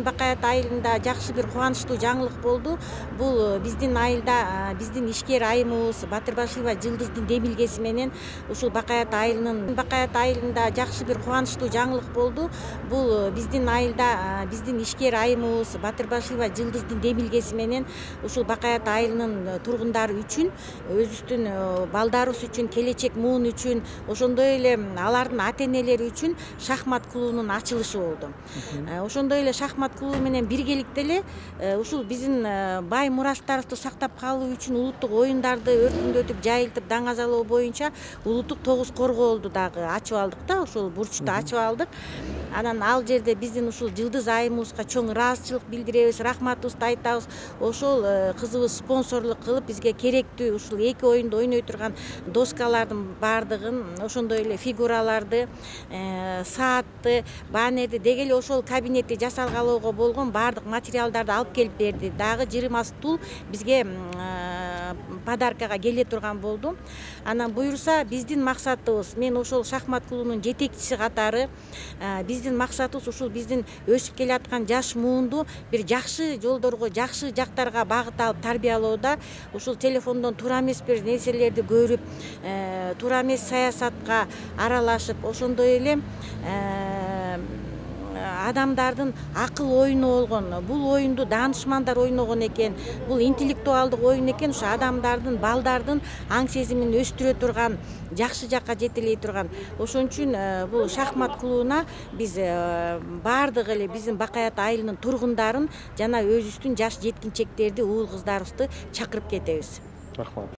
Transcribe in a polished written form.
Бакай Ата айылында жакшы бир кубанычтуу жаңылык болду. Бул биздин айылда биздин ишкер айымыбыз Батырбашева Жылдыздын демилгеси менен ушул Бакай Ата айылында жакшы бир кубанычтуу жаңылык болду. Бул биздин айылда биздин ишкер айымыбыз Батырбашева Жылдыздын демилгеси менен ушул Бакай Ата айылынын тургундары үчүн, өзүбүздүн балдарыбыз үчүн, келечек муун үчүн, ошондой эле алардын ата-энелери үчүн шахмат клубунун ачылышы болду. Ошондой эле шахмат клубу менен биргеликте эле ушул биздин бай мурастарыбызды сактап калуу үчүн улуттук оюндарды өркүндөтүп, жайылтып, даңазалоо боюнча улуттук тогуз коргоолду дагы ачып алдык да, ошол бурчту ачып алдык. Анан ал жерде биздин ушул Жылдыз айымыбызга чоң ыраазычылык билдиребиз, рахматыбызды айтабыз. Ошол кызыбыз спонсорлук кылып бизге керектүү ушул эки оюнду ойной турган доскалардын баардыгын, ошондой эле фигураларды, саатты, баннерди, деги эле ошол кабинетти жасалгалоого болгон баардык материалдарды алып келип берди. Дагы 20 стул бизге подаркага келе турган болду. Анан буюрса биздин максатыбыз, мен ошол шахмат клубунун жетекчиси катары, биздин максатыбыз ушул биздин өсүп келаткан жаш муунду бир жакшы жолдорго, жакшы жактарга багыт алып тарбиялоодо, ушул телефондон туура эмес бир нерселерди көрүп, туура эмес саясатка аралашып, ошондой эле адамдардын акыл оюну болгон, бул оюнду даанышмандар ойногон экен, бул интеллектуалдык оюн экен, ушу адамдардын, балдардын аң сезимин өстүрө турган, жакшы жакка жетелей турган. Ошон үчүн бул шахмат клубуна биз баардыгы эле биздин Бакай Ата айылынын тургундарын жана өзүбүздүн жаш жеткинчектерди, уул кыздарыбызды чакырып кетебиз. Рахмат.